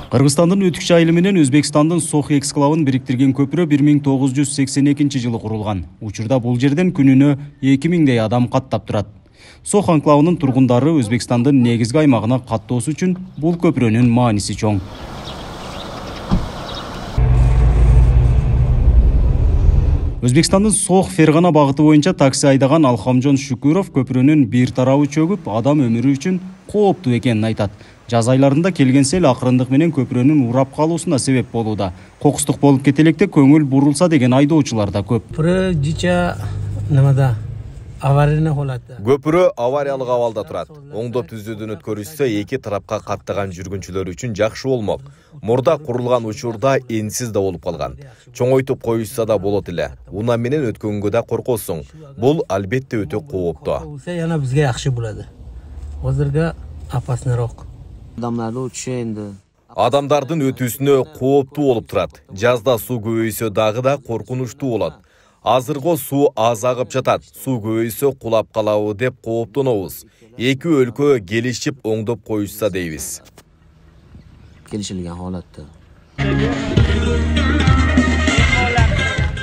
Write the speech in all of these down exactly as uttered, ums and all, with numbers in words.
Кыргызстандын Өтүкчү айылы менен Өзбекстандын Сох эксклавын бириктирген көпүрө бир миң тогуз жүз сексен экинчи жылы курулган. Учурда бул жерден күнүнө эки миңдей адам каттап турат. Сох анклавынын тургундары Өзбекстандын негизги аймагына каттоосу үчүн бул көпүрөнүн мааниси чоң. Өзбекстандын Сох Фергана багыты боюнча такси айдаган Алхамжон Шүкүров көпүрөнүн бир тарабы чөгүп, адам өмүрү үчүн кооптуу экенин айтат. Жаз айларында келген сел акырындык менен көпүрөнүн урап калуусуна себеп болууда. Кокустук болуп кетелекте көңүл бурулса деген айдоочулар да көп. Көпүрө авариялык абалда турат. Оңдоп түзүүдөн өткөрүлсө эки тарапка каттаган жүргүнчүлөр үчүн жакшы болмок. Мурда курулган учурда энсиз да болуп калган. Чоңойтуп коюшса да болот эле. Унаа менен өткөнгө да коркосуң. Бул албетте өтө кооптуу. Жана бизге жакшы болот. Азырга опасныйраак. Адамдардын өтүүсүнө кооптуу болуп турат. Жазда суу көбөйсө дагы да коркунучтуу болот. Азырго суу аз агып жатат. Суу көбөйсө кулап калабы деп кооптонобуз. Эки өлкө келишип оңдоп коюшса дейбиз. Келишилген халатта.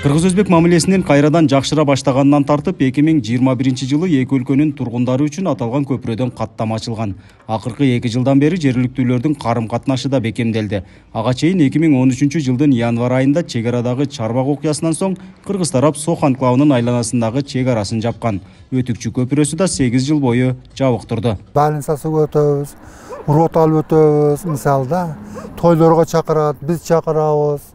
Кыргыз-өзбек мамилесинин кайрадан жакшыра баштаганынан тартып эки миң жыйырма биринчи жылы эки өлкөнүн тургундары үчүн аталган көпүрөдөн каттама ачылган. Акыркы эки жылдан бери жергиликтүүлөрдүн карым катнашы да бекемделди. Ага чейин эки миң он үчүнчү жылдын январь айында чек арадагы чарбак окуясынан соң кыргыз тарап Сох анклавынын айланасындагы чек арасын жапкан. Өтүкчү көпүрөсү да сегиз жыл бою жабык турду. Балансасы өтөбүз, рот алып өтөбүз, мисалда тойлорго чакырат, биз чакырабыз.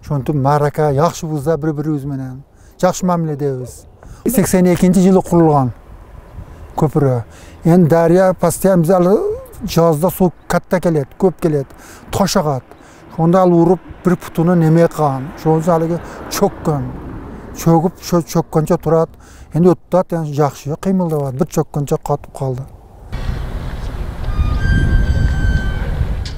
Шонтуп марака жакшыбыз да бири-бирибиз менен. Жакшы мамиледебиз. сексен экинчи жылы курулган көпүрө. Эми дарыя постоянно биз жазда суу катта келет, көп келет, тош агат. Ошондо ал уруп бир путуну неме кылган. Ошондо алыгы чөккөн. Чөгүп, чөккөнчө турат. Эми өтүп атат, жакшы кыймылдабат. Бир чөккөнчө катып калды.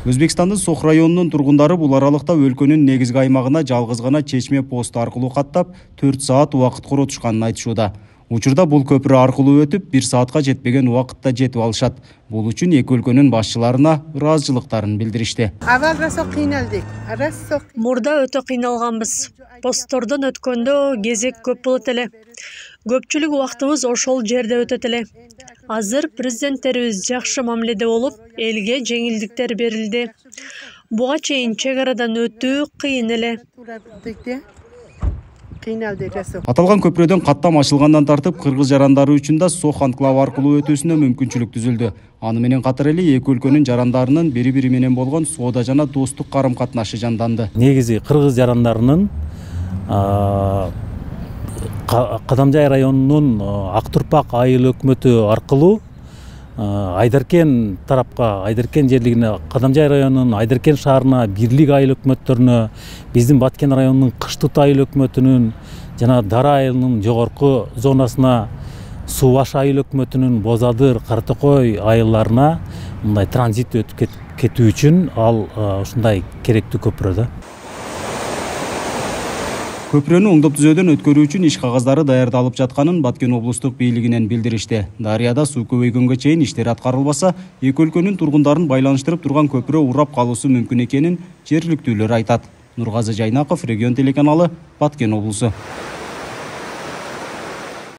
Өзбекстандын Сох районунун тургундары бул аралыкта өлкөнүн негизги аймагына жалгыз гана чечме пост аркылуу каттап төрт саат убакыт коротушканын айтышууда. Учурда бул көпүрө аркылуу өтүп бир саатка жетпеген убакытта жетип алышат. Бул үчүн эки өлкөнүн башчыларына ыраазычылыктарын билдиришти. Мурда өтө кыйналганбыз. Посттордон өткөндө кезек көп болот эле. Көпчүлүк убактыбыз ошол жерде өтөт эле. Азыр президенттерибиз жакшы мамиледе болуп, элге жеңилдиктер берилди. Буга чейин чек арадан өтүү кыйын эле. Аталган көпүрөдөн каттам ачылгандан тартып кыргыз жарандары үчүн да Сох анклавы аркылуу өтүүсүнө мүмкүнчүлүк түзүлдү. Аны менен катар эле эки өлкөнүн жарандарынын бири-бири менен болгон соода жана достук карым катнашы жанданды. Негизи кыргыз жарандарынын Кадамжай районунун Актурпак айыл өкмөтү аркылуу Айдаркен тарапка, Айдаркен жерлигине, Кадамжай районунун Айдаркен шаарына, Бирлик айыл өкмөттөрүнө, биздин Баткен районунун Кыштыт айыл өкмөтүнүн жана Дара айылынын жогорку зонасына, Субаш айыл өкмөтүнүн Бозадыр, Картокой айылдарына мындай транзит өтүп кетүү үчүн ал ушундай керектүү көпүрө да. Көпүрөнү оңдоп түзөөдөн өткөрүү үчүн иш кагаздары даярдалып жатканын Баткен облустук бийлигинен билдиришти. Дарыяда суу көбөйгөнгө чейин иштер аткарылбаса, эки өлкөнүн тургундарын байланыштырып турган көпүрө урап калуусу мүмкүн экенин жергиликтүүлөр айтат. Нургазы Жайнаков, Регион телеканалы, Баткен облусу.